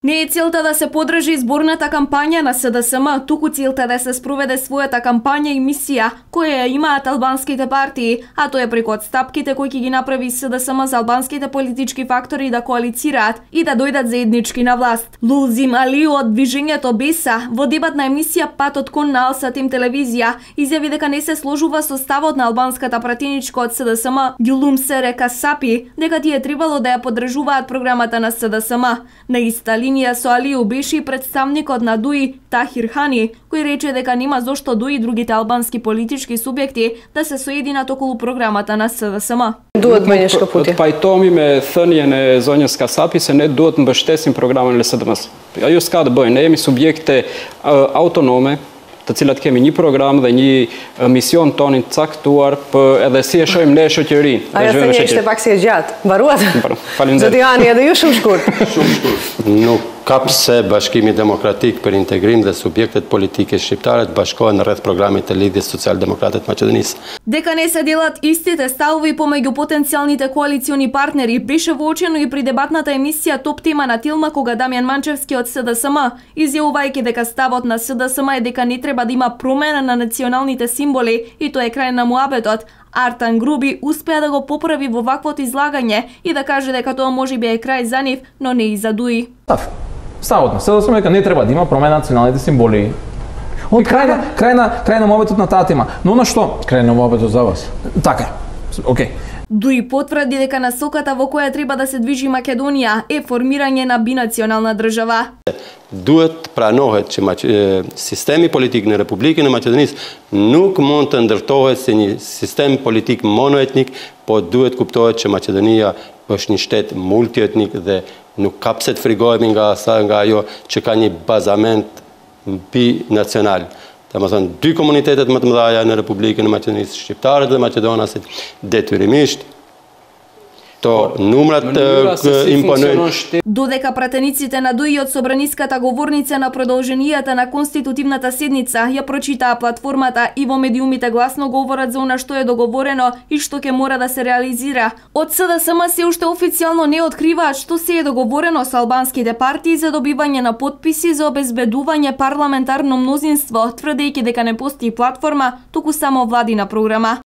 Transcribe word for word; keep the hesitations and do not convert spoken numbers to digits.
Не е целта да се подржи изборната кампања на С Д С М, туку целта да се спроведе својата кампања и мисија која ја имаат албанските партии, а тоа е преку отстапките кои ќе ги направи С Д С М за албанските политички фактори да коалицираат и да дојдат заеднички на власт. Лулзим Алиу од движењето Беса во дебатна емисија Патот кон на Алсатим телевизија изјави дека не се сложува со ставот на албанската пратеничка од С Д С М, Гюлум Сере Касапи, дека тие требало да ја поддржуваат програмата на С Д С М. На иста линија со Алиу беше и представникот на ДУИ Тахир Хани, кој рече дека нема зошто ДУИ и другите албански политички субјекти да се соединат околу програмата на С Д С М. Duhet bëjnë shkëputje. Të pajtohemi me thënien e zonjës Kasapi se ne duhet të mbështesim programin e S D M-s. Ajo s'ka të bëjë, ne jemi subjekte uh, autonome, të cilat kemi një program dhe një mision tonin caktuar për edhe si e shohim ne shoqërinë. Ajo thënie ishte pak si e gjatë. Mbaruat? Faleminderit. Zoti Hani, edhe ju shumë shkurt. Shumë shkurt. Nuk ka pse Bashkimi Demokratik për Integrim dhe subjektet politike shqiptare të bashkohen rreth programit të Lidhjes Social-Demokrate të Maqedonisë. Дека не се делат истите ставови помеѓу потенцијалните коалициони партнери беше воочено и при дебатната емисија Топ тема на Тилма кога Дамјан Манчевски од С Д С М, изјавувајќи дека ставот на С Д С М е дека не треба да има промена на националните символи и тоа е крај на муабетот. Артан Груби успеа да го поправи во ваквото излагање и да каже дека тоа можеби е крај за нив, но не и за ДУИ. Ставот на С Д С М дека не треба да има промена на националните символи. И крај на крај на крај на муабетот на таа тема. Но на што? Крај на муабетот за вас. Така. Океј. ДУИ потврди дека насоката во која треба да се движи Македонија е формирање на бинационална држава. Duhet pranohet që sistemi politik në Republikën e Maqedonisë nuk mund të ndërtohet si një sistem politik monoetnik, po duhet kuptohet që Maqedonia është një shtet multietnik dhe nuk ka pse të frigohemi nga sa nga ajo që ka një bazament binacional. Domethënë dy komunitetet më të mëdha në Republikën e Maqedonisë, shqiptarët dhe maqedonasit, detyrimisht to numrat imponojnë. Додека пратениците на ДУИ од собраниската говорница на продолженијата на конститутивната седница ја прочитаа платформата и во медиумите гласно говорат за она што е договорено и што ќе мора да се реализира. Од С Д С М се уште официјално не откриваат што се е договорено со албанските партии за добивање на потписи за обезбедување парламентарно мнозинство, тврдејќи дека не постои платформа, туку само владина програма.